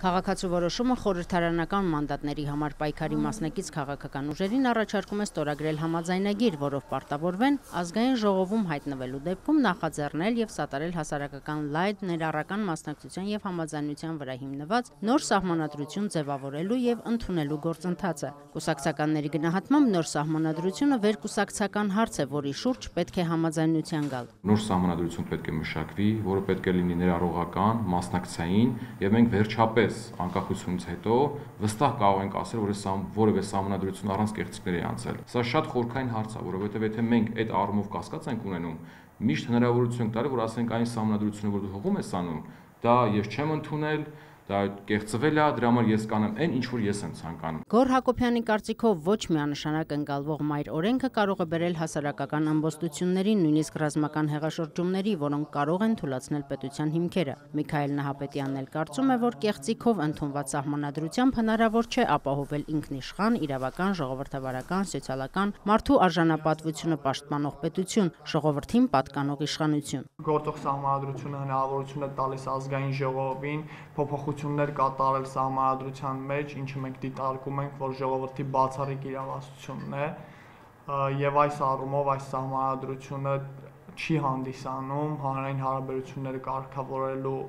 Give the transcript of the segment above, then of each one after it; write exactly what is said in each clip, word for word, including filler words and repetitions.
Քաղաքացու որոշումը խորհրդարանական մանդատների համար պայքարի մասնակից քաղաքական ուժերին առաջարկում է ստորագրել համաձայնագիր, որով պարտավորվեն ազգային ժողովում հայտնվելու դեպքում նախաձեռնել եւ սատարել հասարակական լայն ներառական մասնակցության եւ համաձայնության վրա հիմնված նոր սահմանադրություն ձևավորելու եւ ընդունելու գործընթացը։ Կուսակցականների գնահատմամբ նոր սահմանադրությունը վերկուսակցական հարց է, որի շուրջ պետք է համաձայնության գալ։ Նոր սահմանադրություն պետք է մշակվի, որը պետք է լինի ներառողական, մասնակցային եւ մենք վերջապես անկախությունից հետո վստահ կարող ենք ասել, որ այս որևէ սահմանադրություն առանց կեղծիքների է անցել։ Սա շատ խորքային հարց է, որովհետեւ եթե մենք այդ առումով կասկած ենք ունենում, միշտ հնարավորություն ենք տալի, որ ասենք այն սահմանադրությունը, որ դու հողում ես անում, դա ես չեմ ընդունել, դա կեղծվել է, դրա համար ես կանեմ այն, ինչ որ ես եմ ցանկանում։ Գոռ Հակոբյանի կարծիքով ոչ միանշանակ ընկալվող մայր օրենքը կարող է բերել հասարակական ամբոստությունների, նույնիսկ ռազմական հեղաշրջումների, որոնք կարող են թուլացնել պետության հիմքերը։ Միքայել Նահապետյանն էլ կարծում է, որ կեղծիքով ընդունված սահմանադրությամբ հնարավոր չէ ապահովել ինքնիշխան, իրավական, ժողովրդավարական, սոցիալական, մարդու արժանապատվությունը պաշտպանող պետություն, ժողովրդին պատկանող իշխանություն։ Գործող սահմանադրությունը հնարավորություն է տալիս ազգային ժողովին փոփոխություններ կատարել սահմանադրության մեջ, ինչը մենք դիտարկում ենք, որ ժողովրդի բացառիկ իրավասությունն է, եւ այս առումով այս սահմանադրությունը չի հանդիսանում հանրային հարաբերությունները կարգավորելու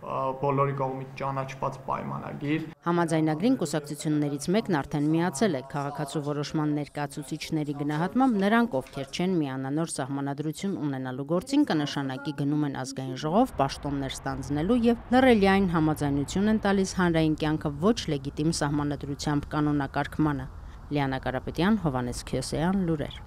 բոլորի կողմից ճանաչված պայմանագիր։ Համաձայնագրին կուսակցություններից մեկն արդեն միացել է։ Քաղաքացու որոշման ներկայացուցիչների գնահատմամբ նրանք, ովքեր չեն միանա նոր սահմանադրություն ունենալու գործին, կնշանակի գնում են ազգային ժողով պաշտոններ ստանձնելու եւ լռելիային համաձայնություն են տալիս հանրային կյանքը ոչ լեգիտիմ սահմանադրությամբ կանոնակարգմանը։ Լիանա Կարապետյան, Հովհաննես Քյոսեյան, լուրեր։